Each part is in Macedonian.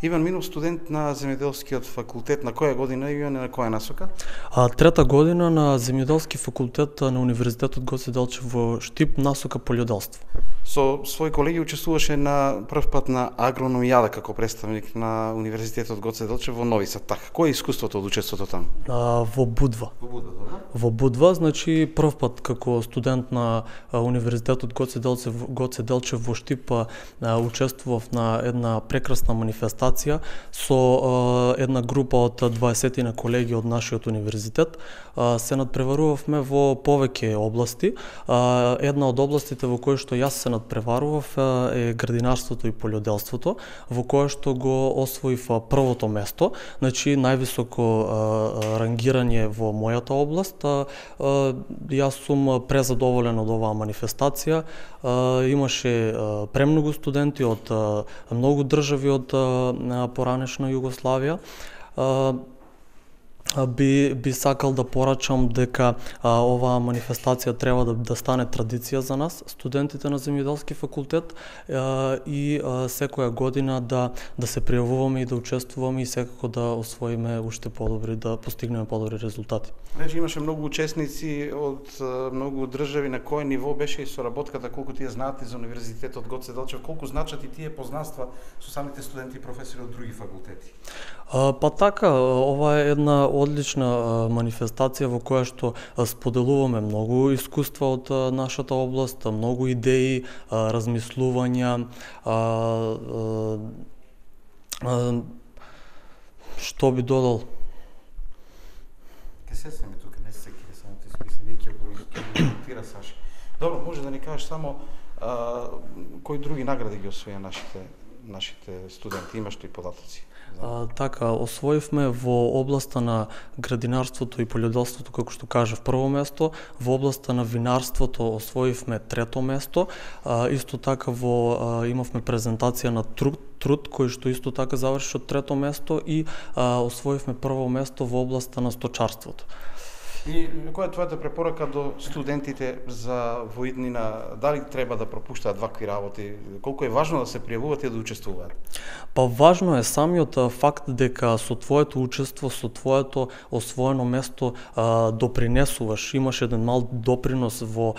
Иван Минов, студент на земјоделскиот факултет, на која година и на која насока? Трета година на земјоделски факултет на Универзитетот Гоце Делчев во Штип, насока полјоделство. Со своји колеги учествуваше на прв пат на агрономијада како представник на Универзитетот Гоце Делчев во Нови Сад. Така, кој е искуството од учеството таму? Во Будва. Во Будва, значи прв пат како студент на Универзитетот Гоце Делчев во Штип учествував на една прекрасна манифестација со една група од 20 на колеги од нашиот универзитет. Се надпреварувавме во повеќе области. Една од областите во која што јас се надпреварував е градинарството и полјоделството, во кое што го освоив првото место, значи највисоко рангирање во мојата област. Јас сум презадоволен од оваа манифестација. Имаше премногу студенти од многу држави од поранешна Југославија. Би сакал да порачам дека оваа манифестација треба да стане традиција за нас, студентите на земјоделски факултет, и секоја година да се пријавуваме и да учествуваме и секако да освоиме уште подобри, да постигнеме подобри резултати. Рече, имаше многу учесници од многу држави. На кој ниво беше и соработката, колку тие знаат за Универзитетот Гоце Делчев, колку значат и тие познанства со самите студенти и професори од други факултети? Па така, ова е една одлична манифестација во која што споделуваме многу искуства од нашата област, многу идеи, размислувања, што би додал? Ке се ми тука, не се ке само ти списи, ние ќе го коментира Саши. Добро, може да ни кажеш само кои други награди ги освоја нашите студенти, имаш ли податоци? Така, освоивме во областа на градинарството и полјоделството, како што кажав, прво место, во областа на винарството освоивме трето место, исто така имавме презентација на труд кој што исто така заврши од трето место и освоивме прво место во областа на сточарството. И која е твојата препорака до студентите за во иднина? Дали треба да пропуштаат вакви работи? Колку е важно да се пријавуваат и да учествуваат? Па важно е самиот факт дека со твоето учество, со твоето освоено место допринесуваш, имаш еден мал допринос во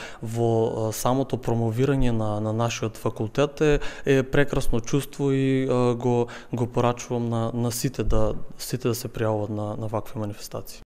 самото промовирање на нашиот факултет, е прекрасно чувство и го порачувам на сите да се пријавуваат на вакви манифестации.